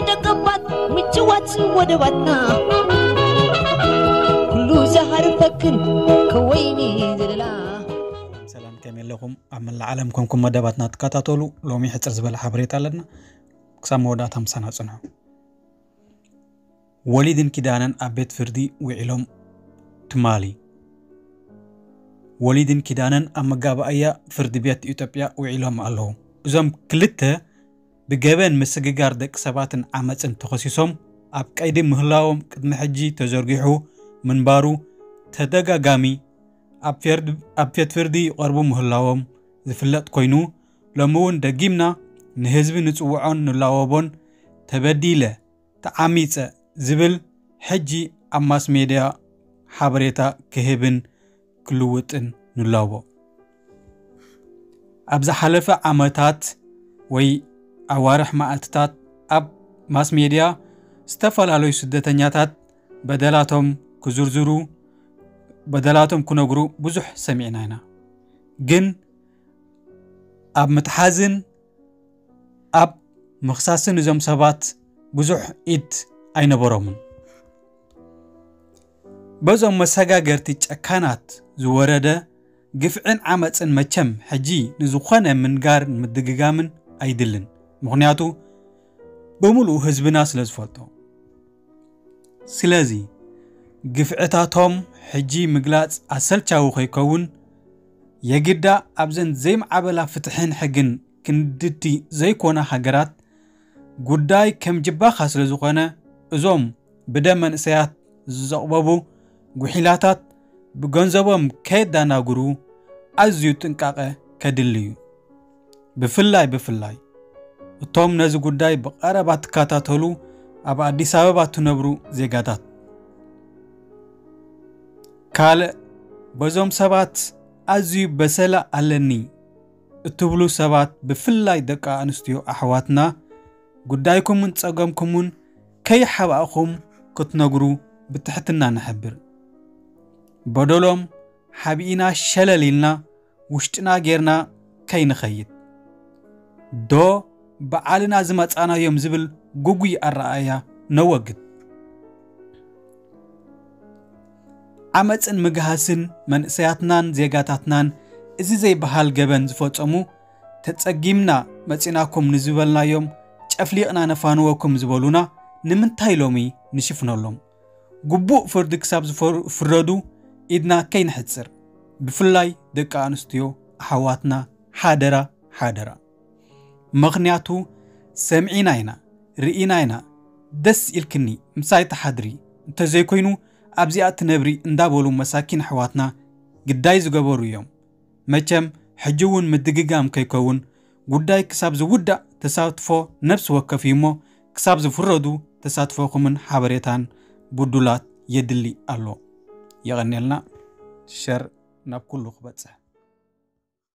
ደቀባት ምጭዋት ወደባትና ኩሉ ዝሃርፈክን ከወይኒ ዘለላ። ሰላም፣ ከመይ ኣለኹም? ኣብ መላእ ዓለም ኮንኩም መደባትና ትከታተሉ፣ ሎሚ ሕጽር ዝበለ ሓበሬታ ኣለና። ክሳብ መወዳእታ ምሳና ጽንሑ። ወሊድን ኪዳነን ኣብ ቤት ፍርዲ ውዒሎም ትማሊ። ወሊድን ኪዳነን ኣብ መጋባእያ ፍርዲ ቤት ኢትዮጵያ ውዒሎም ኣለዉ። እዞም ክልተ ብገበን ምስግጋር ደቂ ሰባትን ዓመፅን ተኸሲሶም ኣብ ቀይዲ ምህላዎም ቅድሚ ሕጂ ተዘርጊሑ ምንባሩ ተደጋጋሚ ኣብ ፌርድ-፣ ኣብ ቤት ፍርዲ ይቐርቡ ምህላዎም ዝፍለጥ ኮይኑ፣ ሎሚ እውን ደጊምና ንህዝቢ ንፅውዖን ንላወቦን። ተበዲለ፣ ተዓሚፀ ዝብል ሕጂ ኣብ ማስ ሜድያ ሓበሬታ ክህብን ክልውጥን ንላቦ። ኣብ ዝሓለፈ ዓመታት ወይ ኣዋርሕ መዓልትታት ኣብ ማስ ሜድያ ዝተፈላለዩ ስደተኛታት በደላቶም ክዝርዝሩ፣ በደላቶም ክነግሩ ብዙሕ ሰሚዕና ኢና። ግን ኣብ ምትሓዝን ኣብ ምኽሳስን እዞም ሰባት ብዙሕ ኢድ ኣይነበሮምን። በዞም መሰጋገርቲ ጨካናት ዝወረደ ግፍዕን ዓመፅን መቸም ሕጂ ንዝኾነ ምንጋርን ምድግጋምን ኣይድልን። ምኽንያቱ ብምሉኡ ህዝብና ስለ ዝፈልጦ። ስለዚ ግፍዕታቶም ሕጂ ምግላፅ ኣሰልቻዊ ከይከውን፣ የግዳ ኣብዘን ዘይምዓበላ ፍትሕን ሕግን ክንድቲ ዘይኮና ሃገራት ጉዳይ ከም ጅባኻ ስለ ዝኾነ፣ እዞም ብደም መንእሰያት ዝዘቕበቡ ጉሒላታት ብገንዘቦም ከየዳናግሩ ኣዝዩ ጥንቃቐ ከድሊ እዩ። ብፍላይ፣ ብፍላይ እቶም ነዚ ጉዳይ ብቐረባ ትከታተሉ ኣብ ኣዲስ ኣበባ ትነብሩ ዜጋታት። ካልእ፣ በዞም ሰባት ኣዝዩ በሰላ ኣለኒ እትብሉ ሰባት፣ ብፍላይ ደቂ ኣንስትዮ ኣሕዋትና፣ ጉዳይኩምን ጸገምኩምን ከይሓባእኹም ክትነግሩ ብትሕትና ንሕብር። በደሎም ሓቢእና ሸለል ኢልና ውሽጥና ጌርና ከይንኸይድ፣ ዶ በዓልና ዝመጻናዮም ዝብል ግጉይ ኣረኣእያ ነወግድ። ዓመጽን ምግሃስን መንእሰያትናን ዜጋታትናን እዚ ዘይበሃል ገበን ዝፈጸሙ፣ ተጸጊምና መጺናኩም ንዝበልናዮም ጨፍሊቕና ነፋንወኩም ዝበሉና ንምንታይ ሎሚ ንሽፍነሎም? ግቡእ ፍርዲ ክሳብ ዝፈር-፣ ዝፍረዱ ኢድና ከይንሕጽር፣ ብፍላይ ደቂ ኣንስትዮ ኣሕዋትና ሓደራ፣ ሓደራ። ምኽንያቱ ሰሚዕና ኢና፣ ርኢና ኢና። ደስ ኢልክኒ ምሳይ ትሓድሪ፣ እንተዘይኮይኑ ኣብዚኣ ትነብሪ እንዳበሉ መሳኪን ኣሕዋትና ግዳይ ዝገበሩ እዮም። መቸም ሕጂ እውን ምድግጋም ከይከውን ጉዳይ ክሳብ ዝውዳእ ተሳትፎ ነብሲ ወከፍ እዩ እሞ፣ ክሳብ ዝፍረዱ ተሳትፎኹምን ሓበሬታን ብዱላት የድሊ ኣሎ። የቐንየልና። ሸር ናብ ኩሉ ክበጽሕ።